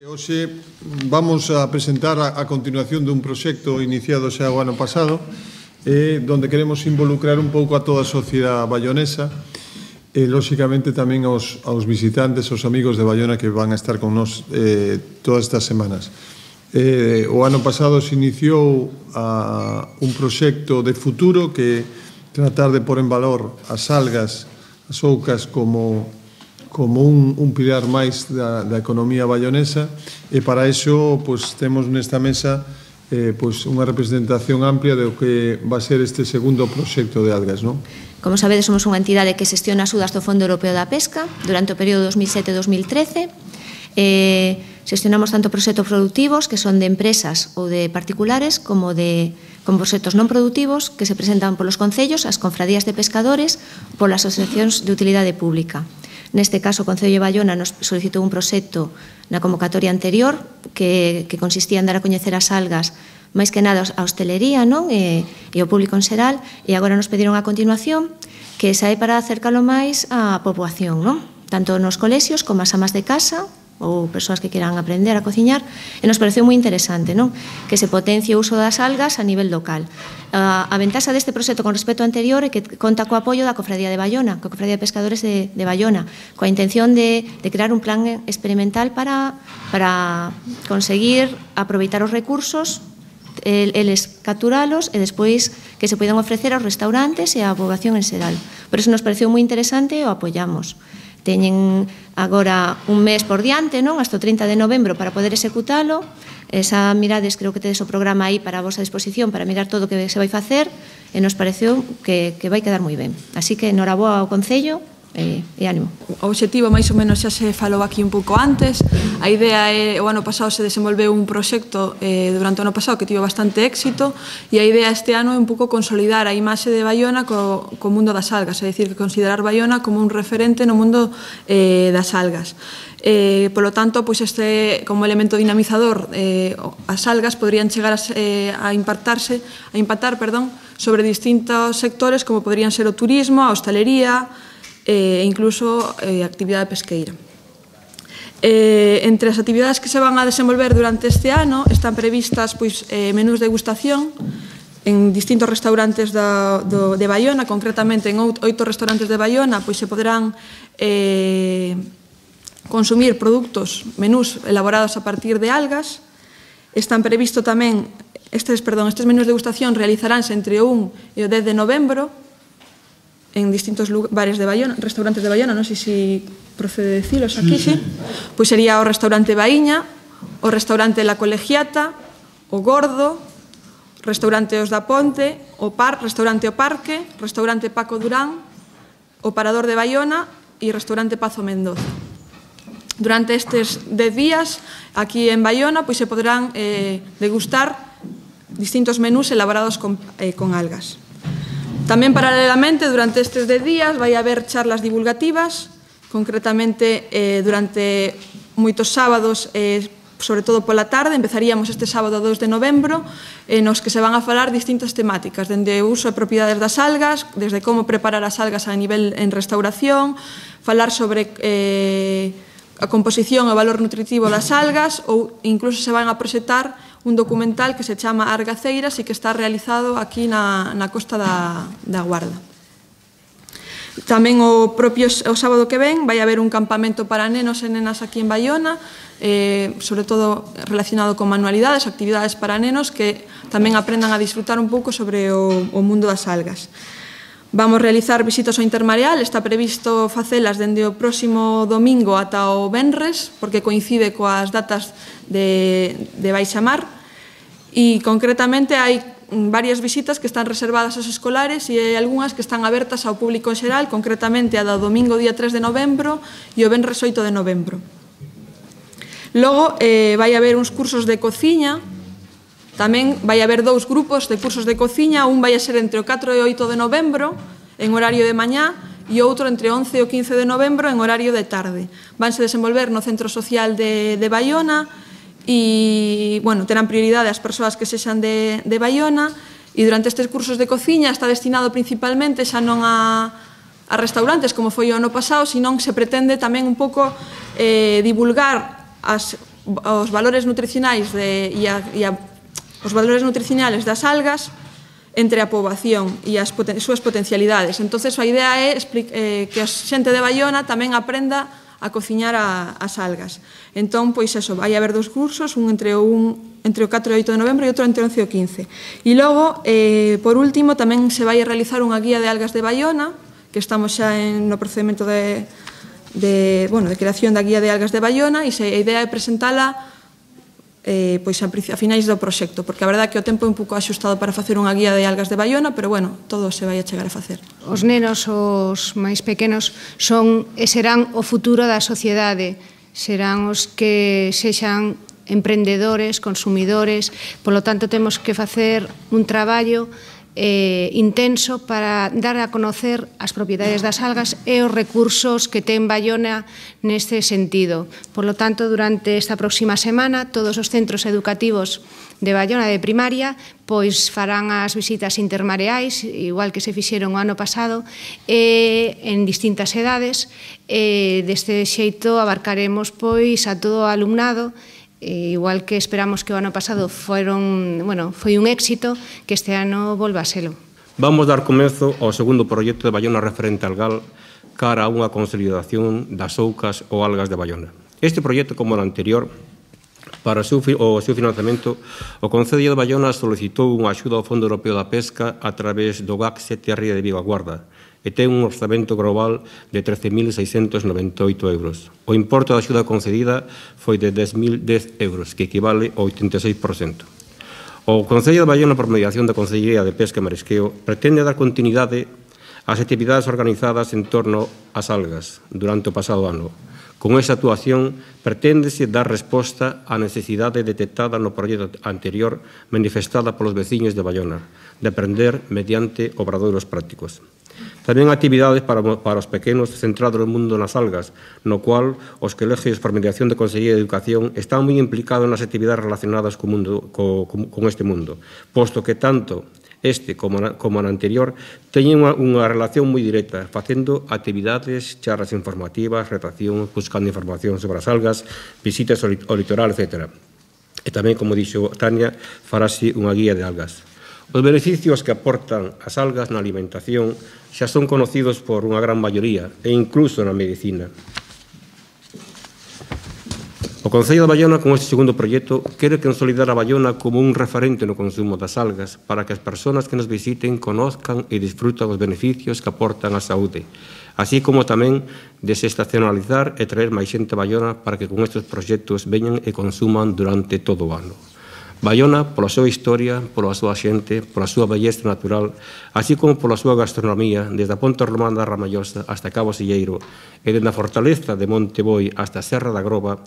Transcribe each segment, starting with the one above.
Hoxe vamos a presentar a continuación dun proxecto iniciado xa o ano pasado donde queremos involucrar un pouco a toda a sociedade baionesa e, lóxicamente, tamén aos visitantes, aos amigos de Baiona que van a estar con nós todas estas semanas. O ano pasado se iniciou un proxecto de futuro que tratar de pôr en valor as algas, as oucas como un pilar máis da economía baionesa e para iso temos nesta mesa unha representación amplia do que va a ser este segundo proxecto de algas. Como sabedes, somos unha entidade que xestiona axudas do Fondo Europeo da Pesca durante o período 2007-2013. Xestionamos tanto proxectos productivos que son de empresas ou de particulares como proxectos non productivos que se presentan polos concellos, as confradías de pescadores ou polas asociacións de utilidade pública. Neste caso, o Concello de Baiona nos solicitou un proxecto na convocatoria anterior que consistía en dar a coñecer as algas máis que nada a hostelería e ao público en xeral, e agora nos pediron a continuación que sae para acercalo máis á poboación, tanto nos colexios como as amas de casa ou persoas que queran aprender a cociñar, e nos pareceu moi interesante que se potencie o uso das algas a nivel local. A ventaxa deste proxecto con respecto ao anterior é que conta co apoio da Cofradía de Baiona, coa Cofradía de Pescadores de Baiona, coa intención de crear un plan experimental para conseguir aproveitar os recursos, eles capturalos e despois que se poidan ofrecer aos restaurantes e á poboación en xeral. Por iso nos pareceu moi interesante e o apoiamos. Teñen agora un mes por diante, hasta o 30 de novembro, para poder executalo. Esa mirades, creo que tedes o programa aí para a vosa disposición para mirar todo o que se vai facer, e nos pareceu que vai quedar moi ben. Así que, noraboa ao Concello e ánimo. O obxectivo máis ou menos xa se falou aquí un pouco antes. A idea é, o ano pasado se desenvolveu un proxecto durante o ano pasado que tivo bastante éxito, e a idea este ano é un pouco consolidar a imaxe de Baiona co mundo das algas, é dicir, que considerar Baiona como un referente no mundo das algas. Polo tanto, este como elemento dinamizador, as algas podrían chegar a impactar sobre distintos sectores como podrían ser o turismo, a hostalería e incluso a actividade pesqueira. Entre as actividades que se van a desenvolver durante este ano están previstas menús de degustación en distintos restaurantes de Baiona, concretamente en 8 restaurantes de Baiona se poderán consumir menús elaborados a partir de algas. Están previsto tamén, estes menús de degustación realizaránse entre o 1 e o 10 de novembro en distintos bares de Baiona, restaurantes de Baiona, non sei se procede decilos aquí, sí. Pois sería o restaurante Baíña, o restaurante La Colegiata, o Gordo, restaurante Os da Ponte, restaurante O Parque, restaurante Paco Durán, o Parador de Baiona e restaurante Pazo Mendoza. Durante estes 10 días, aquí en Baiona, se poderán degustar distintos menús elaborados con algas. Tamén, paralelamente, durante estes 10 días vai haber charlas divulgativas, concretamente durante moitos sábados, sobre todo pola tarde. Empezaríamos este sábado 2 de novembro, nos que se van a falar distintas temáticas, dende o uso e propiedades das algas, desde como preparar as algas a nivel en restauración, falar sobre a composición e o valor nutritivo das algas, ou incluso se van a proxectar un documental que se chama Argaceiras e que está realizado aquí na costa da Guarda. Tamén o sábado que ven vai haber un campamento para nenos e nenas aquí en Baiona, sobre todo relacionado con manualidades, actividades para nenos que tamén aprendan a disfrutar un pouco sobre o mundo das algas. Vamos realizar visitas ao intermareal, está previsto facelas dende o próximo domingo ata o venres, porque coincide coas datas de baixamar, e concretamente hai varias visitas que están reservadas aos escolares e hai algunhas que están abertas ao público en xeral, concretamente a do domingo día 3 de novembro e o venres 8 de novembro. Logo vai haber uns cursos de cociña. Tamén vai haber 2 grupos de cursos de cociña, un vai a ser entre o 4 e o 8 de novembro en horario de mañá e outro entre o 11 e o 15 de novembro en horario de tarde. Vanse desenvolver no Centro Social de Baiona e, terán prioridade as persoas que sexan de Baiona, e durante estes cursos de cociña está destinado principalmente xa non a restaurantes como foi o ano pasado, senón se pretende tamén un pouco divulgar as os valores nutricionais os valores nutricionales das algas entre a poboación e as súas potencialidades. Entón, a idea é que a xente de Baiona tamén aprenda a cociñar as algas. Entón, pois eso, vai haber 2 cursos, un entre o 4 e 8 de novembro e outro entre o 11 e o 15. E logo, por último, tamén se vai a realizar unha guía de algas de Baiona, que estamos xa no procedimento de creación da guía de algas de Baiona, e a idea é presentala pois a finais do proxecto, porque a verdade é que o tempo é un pouco axustado para facer unha guía de algas de Baiona, pero bueno, todo se vai a chegar a facer. Os nenos, os máis pequenos, son e serán o futuro da sociedade, serán os que sexan emprendedores, consumidores, polo tanto temos que facer un traballo intenso para dar a conocer as propiedades das algas e os recursos que ten Baiona neste sentido. Por lo tanto, durante esta próxima semana, todos os centros educativos de Baiona de primaria pois farán as visitas intermareais, igual que se fixeron o ano pasado, en distintas edades. Deste xeito abarcaremos pois a todo o alumnado, igual que esperamos que o ano pasado foi un éxito, que este ano volva a selo. Vamos dar comezo ao segundo proxecto de Baiona referente al gal cara a unha consolidación das oucas ou algas de Baiona. Este proxecto, como o anterior, para o seu financiamento, o Concello de Baiona solicitou unha axuda ao Fondo Europeo da Pesca a través do GAC CTR de Vigo a Guarda, e ten un orzamento global de 13.698 euros. O importe da axuda concedida foi de 10.010 euros, que equivale ao 86%. O Concello de Baiona, por mediación da Consellería de Pesca e Marisqueo, pretende dar continuidade ás actividades organizadas en torno ás algas durante o pasado ano. Con esa actuación, preténdese dar resposta á necesidade detectada no proxecto anterior manifestada polos veciños de Baiona, de aprender mediante obradoiros prácticos. Tamén actividades para os pequenos centrados no mundo das algas, no cual os colegios por mediación de Consellería de Educación están moi implicados nas actividades relacionadas con este mundo, posto que tanto este como o anterior teñen unha relación moi directa, facendo actividades, charlas informativas, redacción, buscando información sobre as algas, visitas ao litoral, etc. E tamén, como dixo Tania, farase unha guía de algas. Os beneficios que aportan as algas na alimentación xa son conocidos por unha gran maioría, e incluso na medicina. O Concello de Baiona, con este segundo proxecto, quere consolidar a Baiona como un referente no consumo das algas para que as persoas que nos visiten conozcan e disfrutan os beneficios que aportan á saúde, así como tamén desestacionalizar e traer máis xente a Baiona para que con estes proxectos veñan e consuman durante todo o ano. Baiona, pola súa historia, pola súa xente, pola súa belleza natural, así como pola súa gastronomía, desde a Ponte Romana da Ramallosa hasta Cabo Silleiro e desde a fortaleza de Monte Boi hasta a Serra da Groba,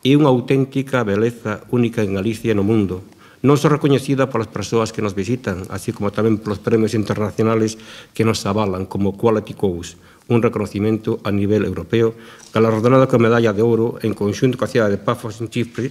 é unha auténtica beleza única en Galicia e no mundo, non só recoñecida polas persoas que nos visitan, así como tamén polos premios internacionales que nos avalan, como Quality Coast, un reconocimiento a nivel europeo, galardonado con medalla de ouro en conxunto coa cidade de Pafos en Chipre,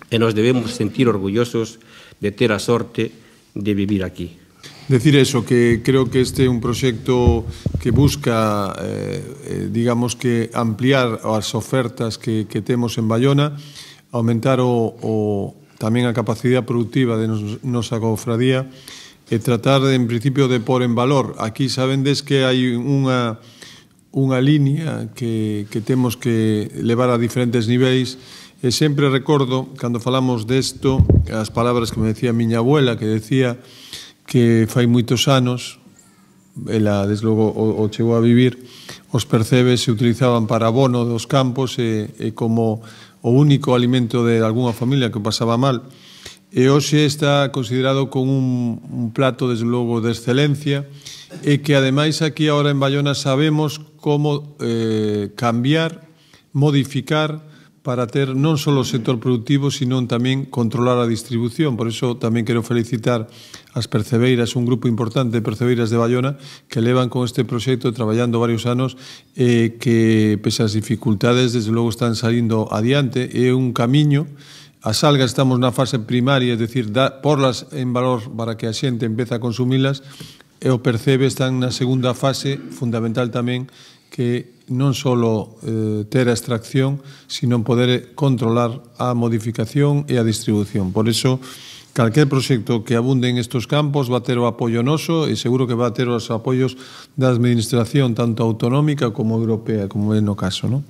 e nos debemos sentir orgullosos de ter a sorte de vivir aquí. Decir eso, que creo que este é un proxecto que busca, digamos que ampliar as ofertas que temos en Baiona, aumentar tamén a capacidade productiva de nosa cofradía e tratar, en principio, de pôr en valor. Aquí sabendes que hai unha línea que temos que levar a diferentes niveis. E sempre recordo, cando falamos desto, as palabras que me decía a miña abuela, que decía que fai moitos anos, ela, desde logo, o chegou a vivir, os percebes se utilizaban para abono dos campos e como o único alimento de algunha familia que pasaba mal. E hoxe está considerado como un plato, desde logo, de excelencia e que, ademais, aquí agora en Baiona sabemos como cambiar, modificar, para ter non só o sector productivo, sino tamén controlar a distribución. Por iso tamén quero felicitar as percebeiras, un grupo importante de percebeiras de Baiona, que levan con este proxecto traballando varios anos e que, pese as dificultades, desde logo están salindo adiante. É un camiño. As algas estamos na fase primaria, é dicir, porlas en valor para que a xente empece a consumilas, e o percebe están na segunda fase, fundamental tamén, que non só ter a extracción, sino poder controlar a modificación e a distribución. Por iso, calquer proxecto que abunde en estos campos va a ter o apoio noso e seguro que va a ter os apoios da administración tanto autonómica como europea, como é no caso, non?